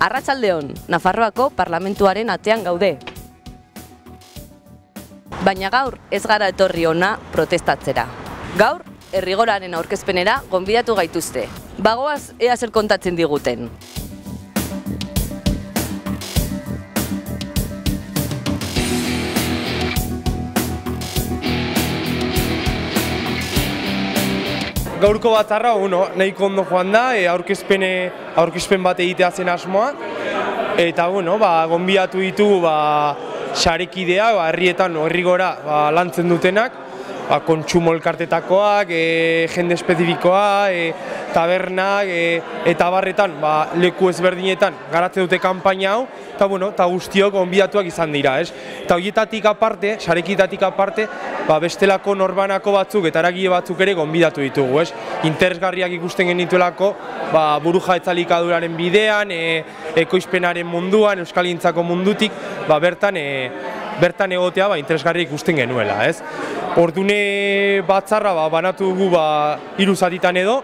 Arratsaldeon, Nafarroako parlamentuaren atean gaude. Baina gaur ez gara etorri hona protestatzera. Gaur, Errigoraren aurkezpenera gonbidatu gaituzte. Bagoaz ea zer kontatzen diguten. Gaurko batzarra, nahiko ondo joan da, aurkezpen bat egitea zen asmoa. Eta, gonbidatu ditugu sarekidea, herrietan, Errigora lantzen dutenak, kontsumo elkartetakoak, jende espezifikoa, tabernak, eta barretan, leku ezberdinetan garatzen dute kanpaina hau, eta guztiok gonbidatuak izan dira, ez? Eta horietatik aparte, sarekitatik aparte, bestelako norbanako batzuk eta eragile batzuk ere gonbidatu ditugu, ez? Interesgarriak ikusten genituelako, burujabetzaren elikaduraren bidean, ekoizpenaren munduan, euskalgintzako mundutik, bertan egotea interesgarri ikusten genuela, ez? Ordune batzarra banatu dugu 3 zatitan edo,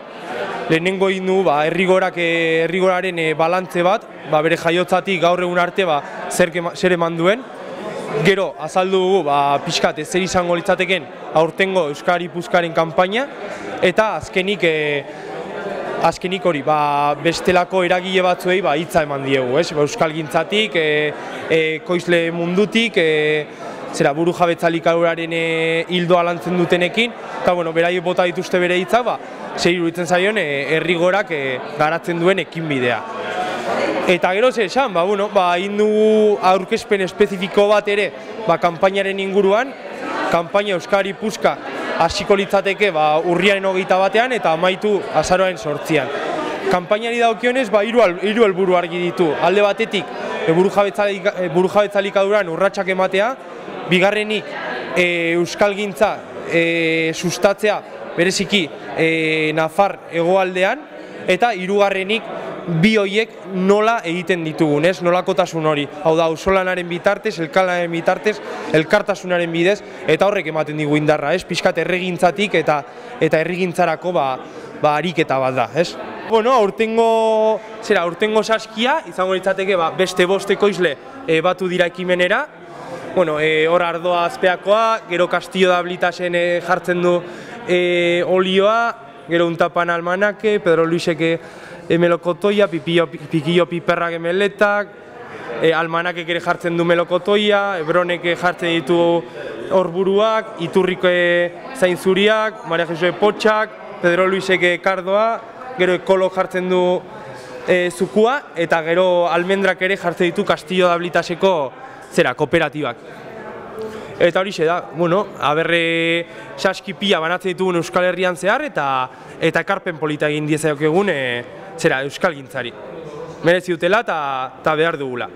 lehenengo egin dugu Errigoraren balantze bat, bere jaiotzatik gaur egun arte zer eman duen. Gero, azaldu dugu pixkat zer izango litzateken aurtengo Euskal Gipuzkoaren kanpaina, eta azkenik hori, bestelako eragile batzuei hitza eman diegu, euskalgintzatik, ekoizle mundutik, burujabetza elikaduraren hildoa lantzen dutenekin, eta beraiek bota dituzte bere hitzak, zer iruditzen zaion Errigorak garatzen duen ekinbidea. Eta gero zer esan, egin dugu aurkezpen espezifiko bat ere kanpainaren inguruan, kanpaina Euskal Gipuzkoa hasiko litzateke urriaren 21 eta amaitu azaroaren 8an. Kanpainari dagokionez 3 helburu argi ditu. Alde batetik burujabetza elikaduran urratsak ematea, bigarrenik euskalgintza sustatzea bereziki Nafar hegoaldean, eta hirugarrenik bi horiek nola egiten ditugun, nolakotasun hori. Hau da, auzolanaren bitartez, elkarlanaren bitartez, elkartasunaren bidez, eta horrek ematen digu indarra, pixkat erregintzatik eta herrigintzarako ariketa bat da, aurtengo saskia, izango litzateke beste 5 ekoizle batu dira ekimenera, hor Ardoa azpeakoa, gero Castillo da Blitasen jartzen du olioa, gero Untapan Almanake, Pedro Luiseke melokotoia, Pikillo Piperrak emeletak, Almanakek ere jartzen du melokotoia, Ebronek jartzen ditu horburuak, Iturriko zainzuriak, Maria Jesue Potxak, Pedro Luiseke kardoa, gero Ekolo jartzen du zukua, eta gero Almendrak ere jartzen ditu Castillo da Blitaseko kooperatibak. Eta horixe da, aberre saskipia banatzen ditugun Euskal Herrian zehar, eta ekarpen polita egin diezaiok egun euskalgintzari. Merezi dutela eta behar dugula.